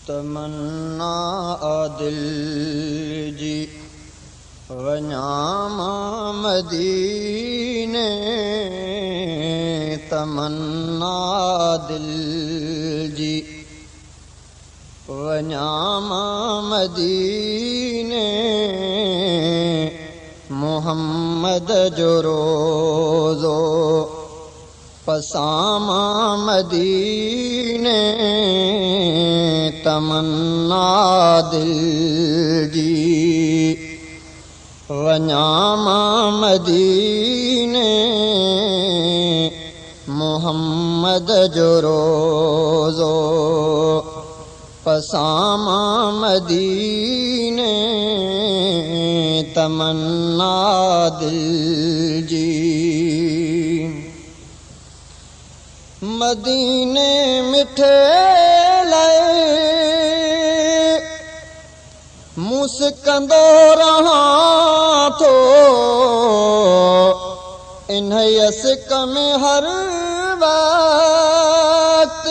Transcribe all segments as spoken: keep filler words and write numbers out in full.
तमन्ना दिल जी वञा मां मदीने, तमन्ना दिल जी वञा मां मदीने, मोहम्मद जो रोज़ो पसां मां मदीने, तमन्ना दिल जी वञा मां मदीने, मोहम्मद जो रोज़ो पसां मां मदीने, तमन्ना दिल जी। मदीने मिठे लाइ मुस्कंदो रहां थो, इन्हीअ सिक में हर वक़्त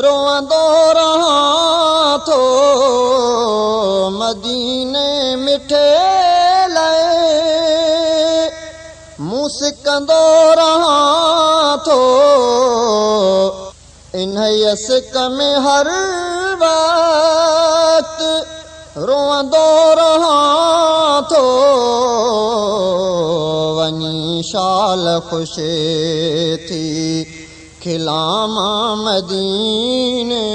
रोअंदो रहां थो। मदीने मिठे लाइ मुस्कंदो रहां थो, इन्हीअ सिक में हर वक़्त रोअंदो रहां थो। वञी शाल ख़ुशि थी खिलां मां मदीने,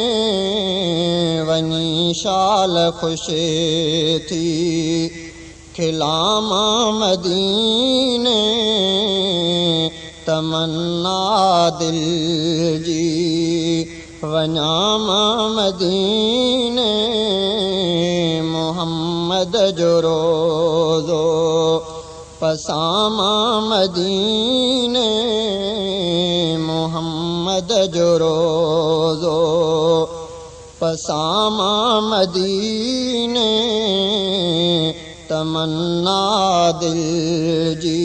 वञी शाल ख़ुशि थी खिलां मां मदीने, तमन्ना दिल जी वञा मां मदीने, मोहम्मद जो रोज़ो पसां मां मदीने, मोहम्मद जो रोज़ो पसां मां मदीने, तमन्ना दिल जी।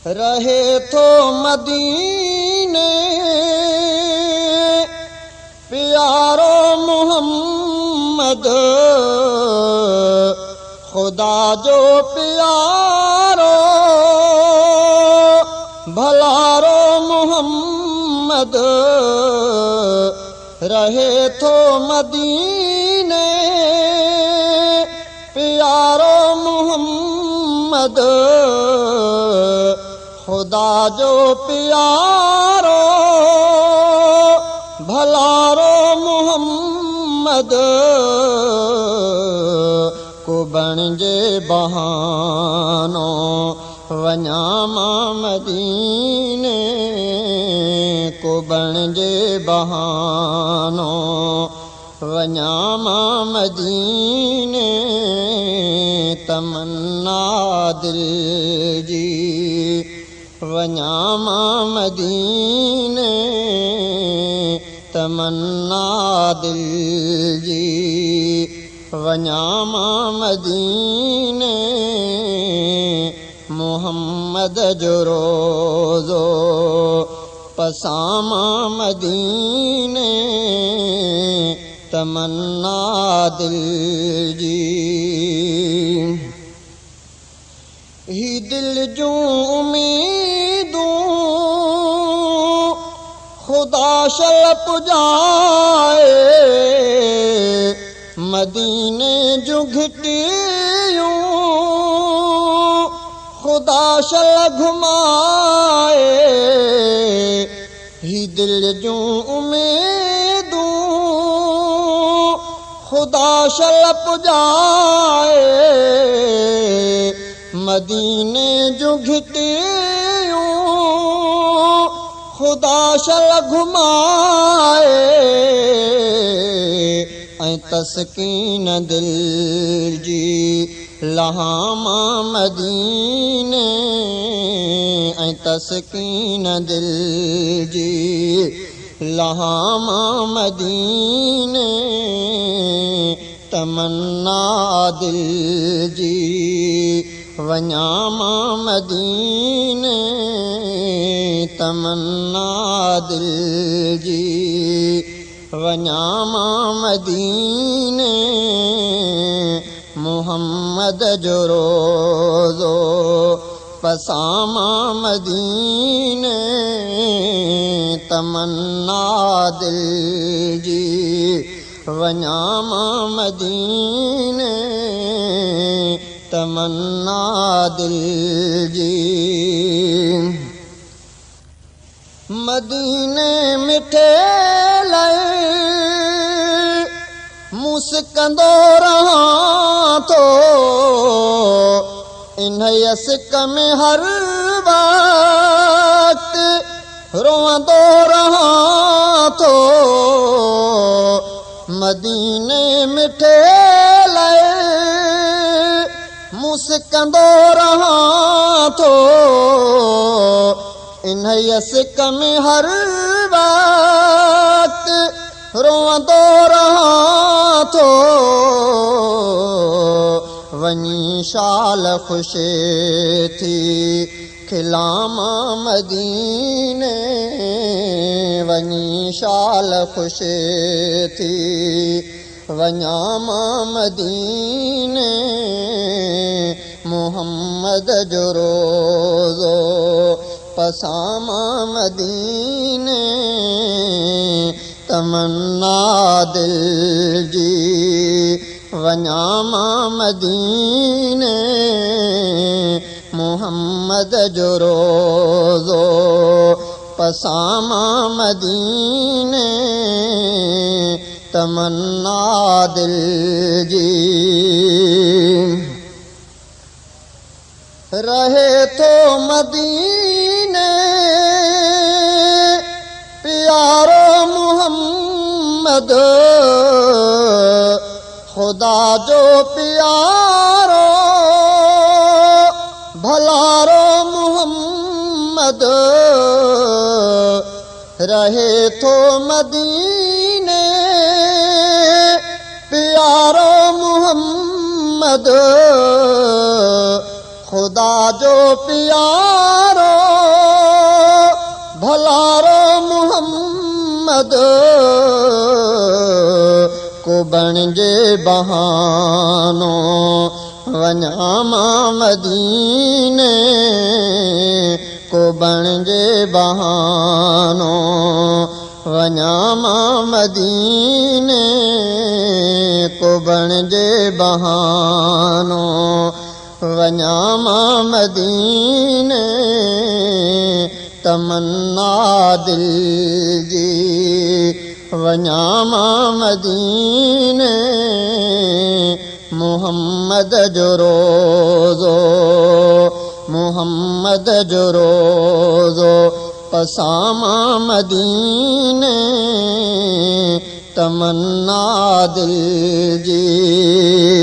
रहे थो मदीने प्यारो मोहम्मद, खुदा जो प्यारो भलारो मोहम्मद, रहे थो मदीने प्यारो मोहम्मद, खुदा जो प्यारो भलारो मोहम्मद, को बणिजे बहानो वञा मां मदीने, को बणिजे बहानो वञा मां मदीने, तमन्ना दिल जी वञा मां मदीने, तमन्ना दिल जी वञा मां मदीने, मोहम्मद जो रोज़ो पसां मां मदीने, तमन्ना दिल जी। ही दिल जूं उम्मीदूं खुदा शल पुॼाए, मदीने जूं घिटियूं खुदा शल घुमाए, ही दिल जूं उम्मीदूं खुदा शल पुॼाए, मदीने जूं घिटियूं खुदा शल घुमाए, ऐं तस्कीन दिल जी लहां मां मदीने, ऐं तस्कीन दिल जी लहां मां मदीने, तमन्ना दिल जी वञा मां मदीने, तमन्ना दिल जी। वञा मां मदीने मोहम्मद जो रोज़ो पसां मां मदीने तमन्ना दिल जी वञा मां मदीने तमन्ना दिल जी। मदीने मिठे लाइ मूं सिकंदो रहां थो इन सिक में हर वक़्तु रोअंदो रहां थो। मदीने मिठे लाइ मूं सिकंदो रहां थो इन सिक में हर वक़्तु रोअंदो रहां थो। वञी शाल ख़ुशि थी खिलां मां मदीने वञी शाल ख़ुशि थी वञा मां मदीने मोहम्मद जो रोज़ो पसां मां मदीने तमन्ना दिल जी वञा मां मदीने मोहम्मद जो रोज़ो पसां मां मदीने तमन्ना दिल जी। रहे तो मदीने प्यारो मोहम्मद खुदा जो प्यारो भलारो मोहम्मद रहे तो मदीने प्यारो मोहम्मद खुदा जो प्यारो भलारो मोहम्मद को बणिजे बहानो वञा मां मदीने को बणिजे बहानो वञा मां मदीने को बणिजे बहानो वञा मां मदीने तमन्ना दिल जी वञा मां मदीने मोहम्मद जो रोज़ो मोहम्मद जो रोज़ो पसां मां मदीने तमन्ना दिल जी।